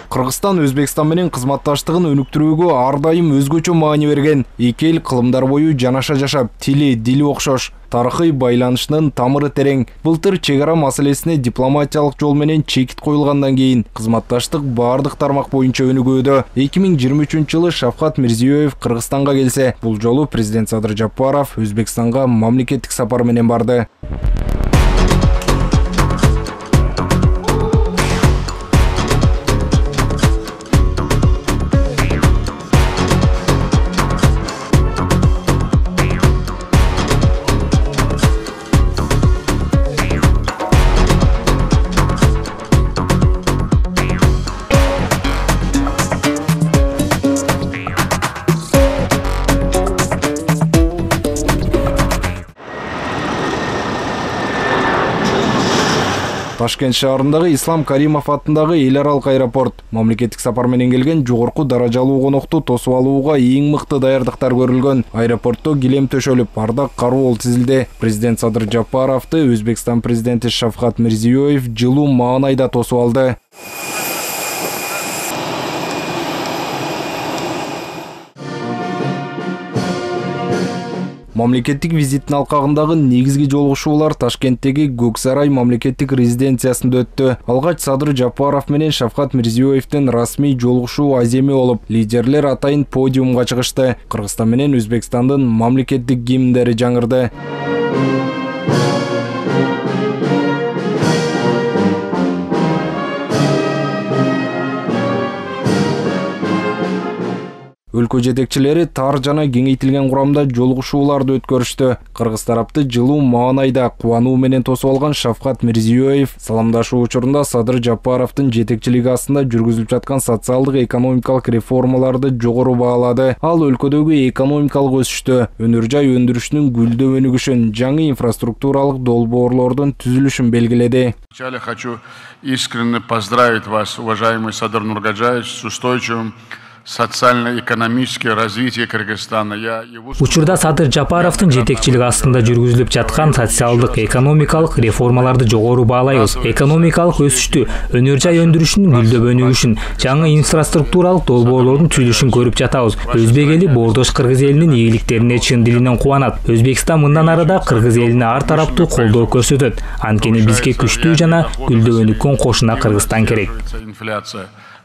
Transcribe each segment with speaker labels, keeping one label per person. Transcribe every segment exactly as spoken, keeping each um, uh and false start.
Speaker 1: Кыргызстан Өзбекстан менен кызматташтыгын өнүктүрүүгө ар дайым өзгөчө маани берген. Эки эл кылымдар бою жанаша жашап, тили, дили окшош. Тарыхый байланышынын тамыры терең. Былтыр чек ара маселесине дипломатиялык жол менен чекит коюлгандан кийин кызматташтык бардык тармак боюнча өнүгүүдө. эки миң жыйырма үчүнчү жылы Шавкат Мирзиёев Кыргызстанга келсе, бул жолу президент Садыр Жапаров Өзбекстанга мамлекеттик сапар менен барды. Ташкент шаарындагы Ислам Каримов атындагы эл аралык аэропорт мамлекеттик сапар менен келген жогорку даражалуу конокту тосуп алууга эң мыкты даярдыктар көрүлгөн. Аэропортто килем төшөлүп, ардак кароол тизилди. Президент Садыр Жапаровду Өзбекстан президенти Шавкат Мирзиёев жылуу маанайда тосуп алды. Мамлекеттик визиттин алкагындагы негизги жолугушуулар Ташкенттеги Көк Сарай мамлекеттик резиденциясында өттү. Алгач Садыр Жапаров менен Шавкат Мирзиёевдин расмий жолугушуу аземи болуп, лидерлер атайын подиумга чыгышты. Кыргызстан менен Өзбекстандын мамлекеттик гимндери жаңырды. Өлкө жетекчилери тар жана кеңейтилген курамда жолугушууларды өткөрүштү. Кыргыз тарапты жылуу маанайда кубануу менен тосуп алган Шавкат Мирзиёев саламдашуу учурунда Садыр Жапаровдун жетекчилиги астында жүргүзүлүп жаткан социалдык экономикалык реформаларды жогору баалады. Ал өлкөдөгү экономикалык өсүштү, өнөр жай өндүрүшүнүн гүлдөп өнүгүшүн, жаңы инфраструктуралык долбоорлордун түзүлүшүн белгиледи.
Speaker 2: Вначале хочу искренне поздравить вас, уважаемый Садыр Нургаджаевич, с устойчивым социально-экономическое развитие Кыргызстана.
Speaker 3: Учурда Садыр Жапаровдун жетекчилиги астында жүргүзүлүп жаткан социалдык экономикалык реформаларды жогору баалайбыз. Экономикалык өсүштү, өнөр жай өндүрүшүнүн гүлдөп өнүгүшүн, жаңы инфраструктуралык долбоорлордун түзүлүшүн көрүп жатабыз. Өзбек эли Боордош кыргыз элинин ийгиликтерине чын дилинен кубанат. Өзбекстан мындан ары да кыргыз элине ар тараптуу колдоо көрсөтөт. Анткени бизге күчтүү жана гүлдөп өнүккөн кошуна Кыргызстан керек.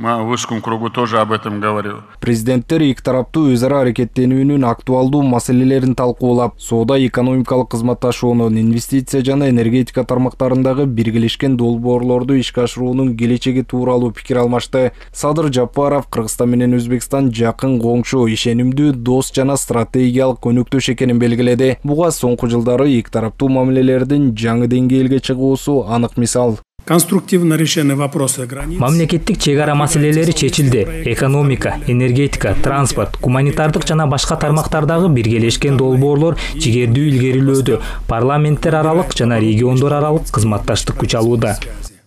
Speaker 2: В узком кругу тоже об этом говорил.
Speaker 1: Президенттер эки тараптуу өз ара аракеттенүүнүн актуалдуу маселелерин талкуулап, соода экономикалык кызматташууну, инвестиция жана энергетика тармактарындагы биргелешкен долбоорлорду ишке ашыруунун келечеги тууралуу пикир алмашты. Садыр Жапаров Кыргызстан менен Өзбекстан жакын коңшу, ишенимдүү дос жана стратегиялык өнөктөш экенин белгиледи. Буга соңку жылдары эки тараптуу мамилелердин жаңы деңгээлге чыгуусу анык мисал.
Speaker 4: Конструктивно решены вопросы границ.
Speaker 3: Мамлекеттик чек ара маселелери чечилди. Экономика, энергетика, транспорт, гуманитардык жана башка тармактардагы биргелешкен долбоорлор жигердүү илгерилөөдө, парламенттер аралык жана региондор аралык кызматташтык күч алууда.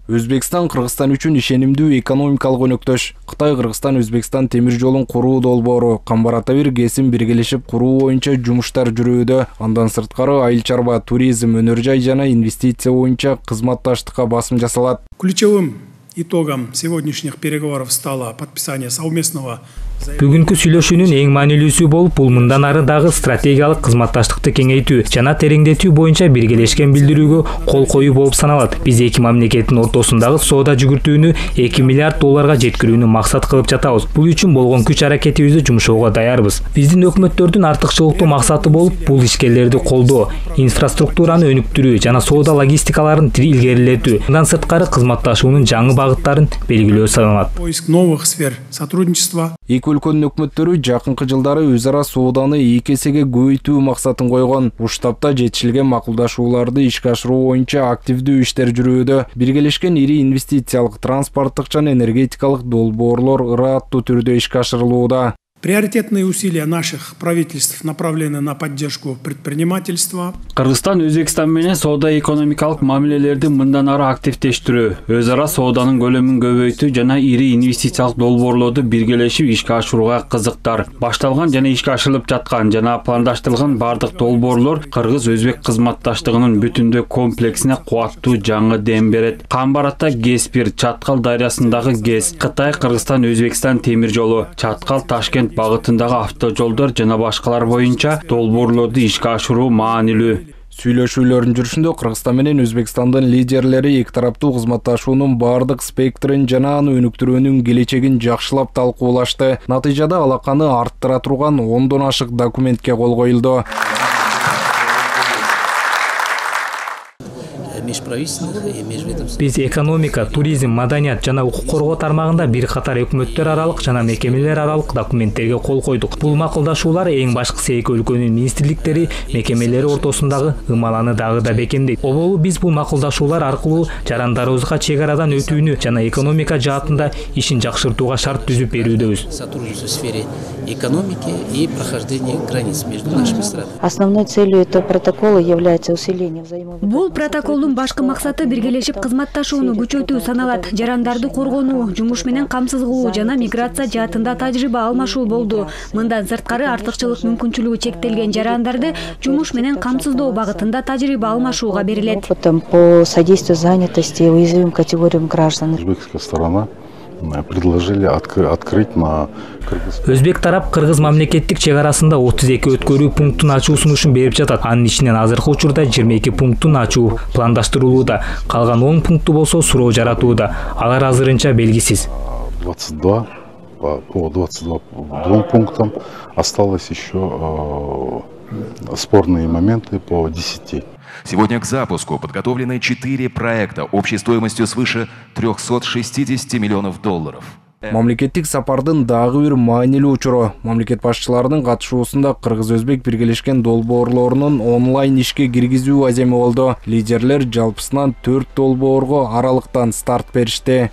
Speaker 1: Өзбекстан Кыргызстан үчүн ишенимдүү экономикалык өнөктөш. Кытай Кыргызстан Өзбекстан темир жолун куруу долбоору Камбар-Ата бир кесим биргелешип куруу боюнча жумуштар жүрүүдө. Андан сырткары айыл чарба, туризм, өнөр жай жана инвестиция боюнча кызматташтыкка басым жасалат.
Speaker 4: Ключевым итогом сегодняшних переговоров стало подписание совместного.
Speaker 3: Бүгүнкү сүйлөшүүнүн эң маанилүүсү болуп, бул мындан ары дагы стратегиялык кызматташтыкты кеңейтүү жана тереңдетүү боюнча биргелешкен билдирүүгө кол коюу болуп саналат. Биз эки мамлекеттин ортосундагы соода жүгүртүүнү эки миллиард долларга жеткирүүнү максат кылып жатабыз. Бул үчүн болгон күч аракетибизди жумшоого даярбыз. Биздин өкмөттөрдүн артыкчылыктуу максаты болуп, бул ишкерлерди колдоо, инфраструктураны өнүктүрүү жана соода логистикаларын илгерилетүү. Мындан сырткары кызматташуунун жаңы багыттарын белгилөө саналат.
Speaker 4: Поиск новых сфер сотрудничества.
Speaker 1: Эки өлкөнүн өкмөттөрү жакынкы жылдары өз ара сооданы эки эсеге көбөйтүү максатын койгон. Бул штабта жетишилген макулдашууларды ишке ашыруу боюнча активдүү иштер жүрүүдө. Биргелешкен ири инвестициялык, транспорттук жана энергетикалык долбоорлор ырааттуу түрдө ишке ашырылууда.
Speaker 4: Приоритетные усилия наших правительств направлены на поддержку предпринимательства.
Speaker 5: Кыргызстан Өзбекстан менен соода-экономикалык мамилелерди мындан ары активдештирүү, өз ара сооданын көлөмүн көбөйтүү жана ири инвестициялык долбоорлорду биргелешип ишке ашырууга кызыктар. Башталган жана ишке ашырылып жаткан жана пландаштырылган бардык долбоорлор кыргыз-өзбек кызматташтыгынын бүтүндөй комплексине кубаттуу жаңы дем берет. Камбаратта ГЭС-бир, Чаткал дарыясындагы ГЭС, Кытай Кыргызстан Өзбекстан темир жолу, Чаткал Ташкент багытындагы автожолдор жана башкалар боюнча долбоорлорду ишке ашыруу маанилүү.
Speaker 1: Сүйлөшүүлөрдүн жүрүшүндө Кыргызстан менен Өзбекстандын лидерлери эки тараптуу кызматташуунун бардык спектрин жана аны өнүктүрүүнүн келечегин жакшылап талкуулашты. Натыйжада алаканы арттыра турган ондон ашык документке кол коюлду.
Speaker 3: Биз экономика, туризм, маданият жана укук коргоо тармагында бир катар өкмөттөр аралык жана мекемелер аралык документтерге кол койдук. Бул макулдашуулар эң башкысы эки өлкөнүн министрликтери, мекемелери ортосундагы ымаланы дагы да бекемдейт. Оболу биз бул макулдашуулар аркылуу жарандарыбызга чек арадан өтүүнү жана экономика жаатында ишин жакшыртууга шарт түзүп берүүдөбүз.
Speaker 6: Сотрудничество в сфере экономики и прохождения границ между нашими странами.
Speaker 7: Основной целью этого протокола является усиление взаимовыгоды.
Speaker 8: Бул протоколдун башкы максаты биргелешип кызматташууну күчөтүү саналат. Жарандарды коргонуу, жумуш менен камсыз кылуу жана миграция жаатында тажрыйба алмашуу болду. Мындан сырткары артыкчылык мүмкүнчүлүгү чектелген жарандарды жумуш менен камсыздоо багытында тажрыйба алмашууга берилет.
Speaker 7: Опытом по содействию занятости уязвимым категориям граждан.
Speaker 9: Узбекская сторона предложили открыть на Кыргыз.
Speaker 3: Өзбек тарап Кыргыз мамлекеттик чек арасында отуз эки өткөрүү пунктун ачуу сунушун берип жатат. Анын ичинен азыркы учурда жыйырма эки пунктун ачуу пландаштырылууда. Калган он пункту болсо суроо жаратууда. Алар азырынча белгисиз.
Speaker 9: двадцать два по двадцать двум пунктам осталось еще спорные моменты по десяти.
Speaker 10: Сегодня к запуску подготовлены четыре проекта общей стоимостью свыше трёхсот шестидесяти миллионов долларов.
Speaker 1: Мамлекеттик сапардын дагы бир маанилүү учуру. Мамлекет башчыларынын катышуусунда Кыргыз-Өзбек биргелешкен долбоорлорунун онлайн ишке киргизүү аземи болду. Лидерлер жалпысынан төрт долбоорго аралыктан старт беришти.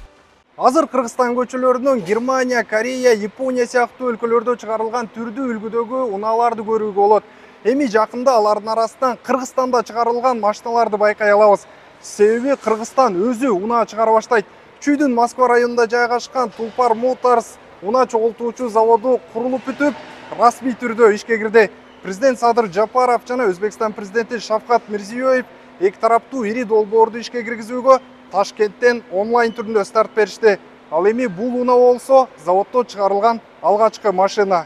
Speaker 1: Азыр Кыргызстан көчөлөрүнөн Германия, Корея, Япония сыяктуу өлкөлөрдө чыгарылган түрдүү үлгүдөгү унааларды көрүүгө болот. Эми жакында алардын арасынан Кыргызстанда чыгарылган машиналарды байкай алабыз. Себеби Кыргызстан өзү унаа чыгара баштайт. Чүйдүн Москва районунда жайгашкан Тулпар Моторс унаа чогултуучу заводу курулуп бүтүп, расмий түрдө ишке кирди. Президент Садыр Жапаров жана Өзбекстан президенти Шавкат Мирзиёев эки тараптуу ири долбоорду ишке киргизүүгө Ташкенттен онлайн түрүндө старт беришти. Ал эми бул унаа болсо заводдо чыгарылган алгачкы машина.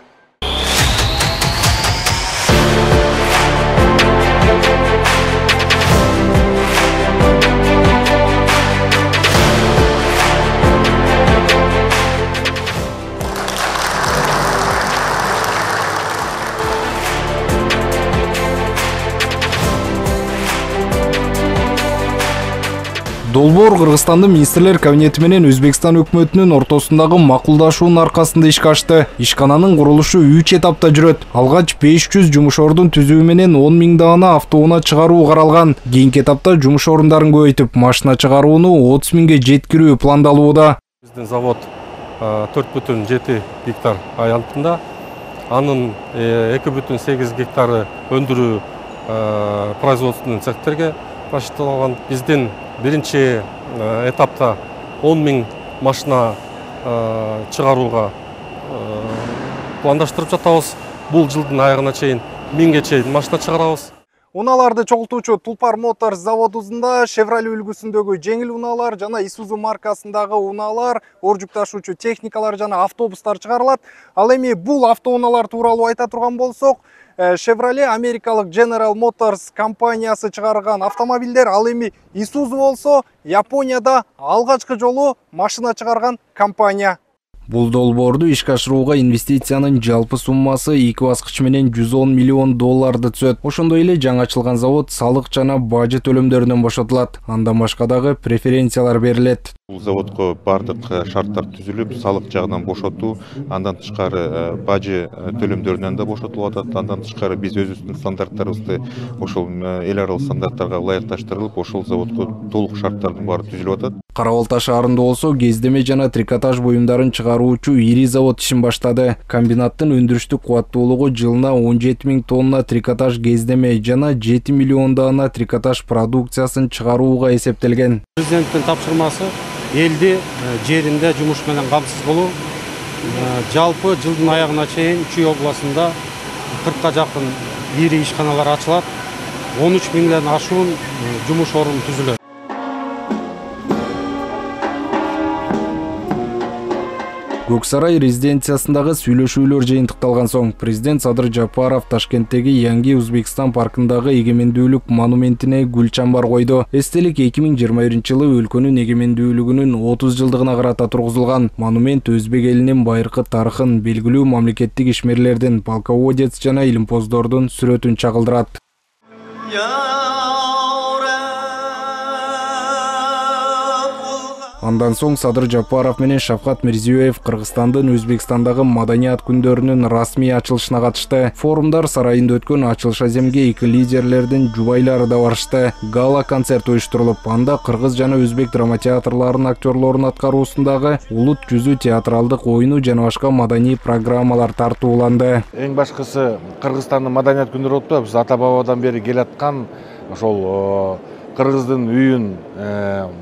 Speaker 1: Долбоор Кыргызстандын министрлер кабинети менен Өзбекстан өкмөтүнүн ортосундагы макулдашуунун аркасында ишке ашты. Ишкананын курулушу үч этапта жүрөт. Алгач беш жүз жумуш ордун түзүү менен он миң даана автоунаа чыгаруу каралган. Кийинки этапта жумуш орундарын көбөйтүп, машина чыгарууну отуз миңге жеткирүү пландалууда.
Speaker 11: Биздин завод төрт бүтүн жети гектар аянтында, анын эки бүтүн сегиз гектары өндүрүү производственный цехтерге башталган. Биздин биринчи этапта он миң машина чыгарууга пландаштырып жатабыз. Бул жылдын аягына чейин миңге чейин машина чыгарабыз.
Speaker 1: Унааларды чогултуучу Тулпар Моторс заводунда Chevrolet үлгүсүндөгү жеңил унаалар жана Isuzu маркасындагы унаалар, оор жүк ташуучу техникалар жана автобустар чыгарылат. Ал эми бул автоунаалар тууралуу айта турган болсок, Chevrolet америкалык General Motors компаниясы чыгарган автомобилдер, ал эми Isuzu болсо Японияда алгачкы жолу машина чыгарган компания. Бул долбоорду ишке ашырууга инвестициянын жалпы суммасы эки баскыч менен жүз он миллион долларды түзөт. Ошондой эле жаңы ачылган завод салык жана бажы төлөмдөрүнөн бошотулат. Андан башка дагы преференциялар берилет.
Speaker 12: Бул заводко бардык шарттар түзүлүп, салык жагынан бошотуу, андан тышкары бажы төлөмдөрүнөн да бошотулуп атат. Андан тышкары биз өзүбүздүн стандарттарыбызды ошол эл аралык стандарттарга ылайыкташтырылып, ошол заводко толук шарттардын баары түзүлүп атат.
Speaker 1: Кара Балта шаарында болсо кездеме жана трикотаж буюмдарын чыгаруучу ири завод ишин баштады. Комбинаттын өндүрүштүк кубаттуулугу жылына он жети миң тонна трикотаж кездеме жана жети миллион даана трикотаж продукциясын чыгарууга эсептелген.
Speaker 11: Президенттин тапшырмасы элди жеринде жумуш менен камсыз кылуу. Жалпы жылдын аягына чейин Чүй областында кыркка жакын ири ишканалар ачылат. он үч миңден ашуун жумуш орун түзүлөт.
Speaker 1: Көк сарай резиденциясындагы сүйлөшүүлөр жыйынтыкталган соң президент Садыр Жапаров Ташкенттеги Yangi Өзбекстан паркындагы эгемендүүлүк монументине гүл чамбар койду. Эстелик эки миң жыйырма биринчи жылы өлкөнүн эгемендүүлүгүнүн отуз жылдыгына карата тургузулган. Монумент өзбек элинин байыркы тарыхын, белгилүү мамлекеттик ишмерлердин, полководец жана илимпоздордун сүрөтүн чагылдырат. Андан соң Садыр Жапаров менен Шавкат Мирзиёев Кыргызстандын Өзбекстандагы маданият күндөрүнүн расмий ачылышына катышты. Форумдар сарайында өткөн ачылыш аземге эки лидерлердин жубайлары да барышты. Гала концерт уюштурулуп, анда кыргыз жана өзбек драма театрларынын актерлорунун аткаруусундагы Улут жүзү театралдык оюну жана башка маданий программалар тартууланды.
Speaker 13: Эң башкысы Кыргызстандын маданият күндөрү болуп, биз ата бабадан бери келаткан ошол кыргыздын үйүн,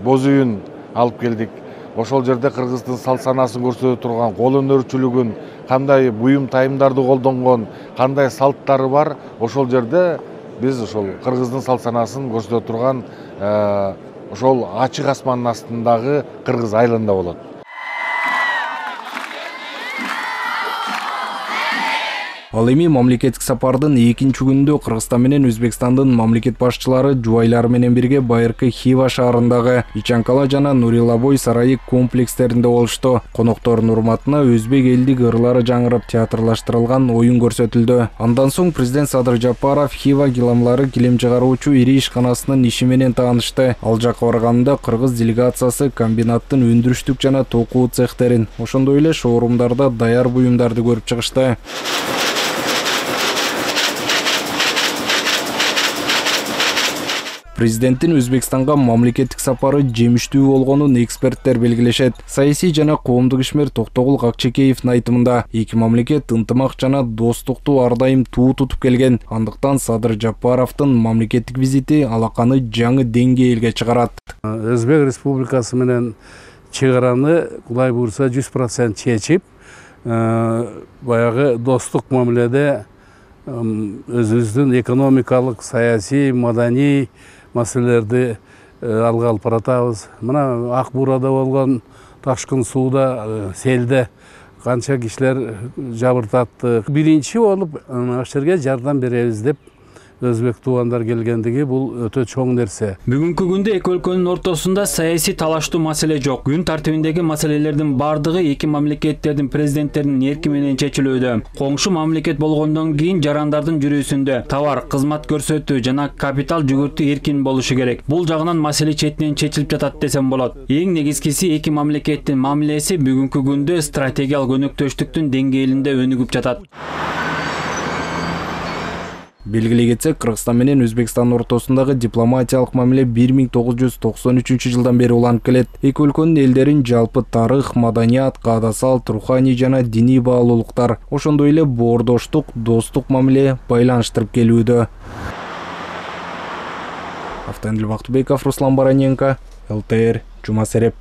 Speaker 13: боз үйүн алып келдик. Ошол жерде кыргыздын салт санаасын көрсөтө турган, кол өнөрчүлүгүн, кандай буюм тайымдарды колдонгон, кандай салттары бар, ошол жерде биз ошол кыргыздын салт санаасын көрсөтө турган ошол ачык асмандын астындагы Кыргыз айылында болот.
Speaker 1: Ал эми мамлекеттик сапардын экинчи күнүндө Кыргызстан менен Өзбекстандын мамлекет башчылары жубайлары менен бирге байыркы Хива шаарындагы Ичанкала жана Нурилабой сарайы комплекстеринде болушту. Коноктордун урматына өзбек элдик ырлары жаңырып театрлаштырылган оюн көрсөтүлдү. Андан соң президент Садыр Жапаров Хива гиламлары килем чыгаруучу ири ишканасынын иши менен таанышты. Ал жакка барганда кыргыз делегациясы комбинаттын өндүрүштүк жана токуу цехтерин, ошондой эле шоурумдарда даяр буюмдарды көрүп чыгышты. Президенттин Өзбекстанга мамлекеттик сапары жемиштүү болгонун эксперттер белгилешет. Саясий жана коомдук ишмер Токтогул Акчекеевдин айтымында эки мамлекет ынтымак жана достукту ар дайым туу тутуп келген. Андыктан Садыр Жапаровдун мамлекеттик визити алаканы жаңы деңгээлге чыгарат.
Speaker 14: Өзбек Республикасы менен чек араны Кудай буйрса жүз процент чечип, баягы достук мамиледе өзүбүздүн экономикалык, саясий, маданий маселелерди алга алып баратабыз. Мына Ак Буурада болгон ташкын сууда, селде канча кишилер жабыртатты. Биринчи болуп аш жерге жардам беребиз деп өзбек туугандар келгендиги бул өтө чоң нерсе.
Speaker 5: Бүгүнкү күндө эки өлкөнүн ортосунда саясий талаштуу маселе жок. Күн тартибиндеги маселелердин бардыгы эки мамлекеттердин президенттеринин эрки менен чечилүүдө. Коңшу мамлекет болгондон кийин жарандардын жүрүүсүндө товар, кызмат көрсөтүү жана капитал жүгүртүү эркин болушу керек. Бул жагынан маселе четинен чечилип жатат десем болот. Эң негизгиси эки мамлекеттин мамилеси бүгүнкү күндө стратегиялык өнөктөштүктүн деңгээлинде өнүгүп жатат.
Speaker 1: Белгилей кетсек, Кыргызстан менен Өзбекстан ортосундагы дипломатиялык мамиле бир миң тогуз жүз токсон үчүнчү жылдан бери уланып келет. Эки өлкөнүн элдерин жалпы тарых, маданият, каада салт, руханий жана диний баалуулуктар, ошондой эле боордоштук, достук мамиле байланыштырып келүүдө. Автандил Бактыбеков, Руслан Бараненко, эл тэ эр, Жума Сереп.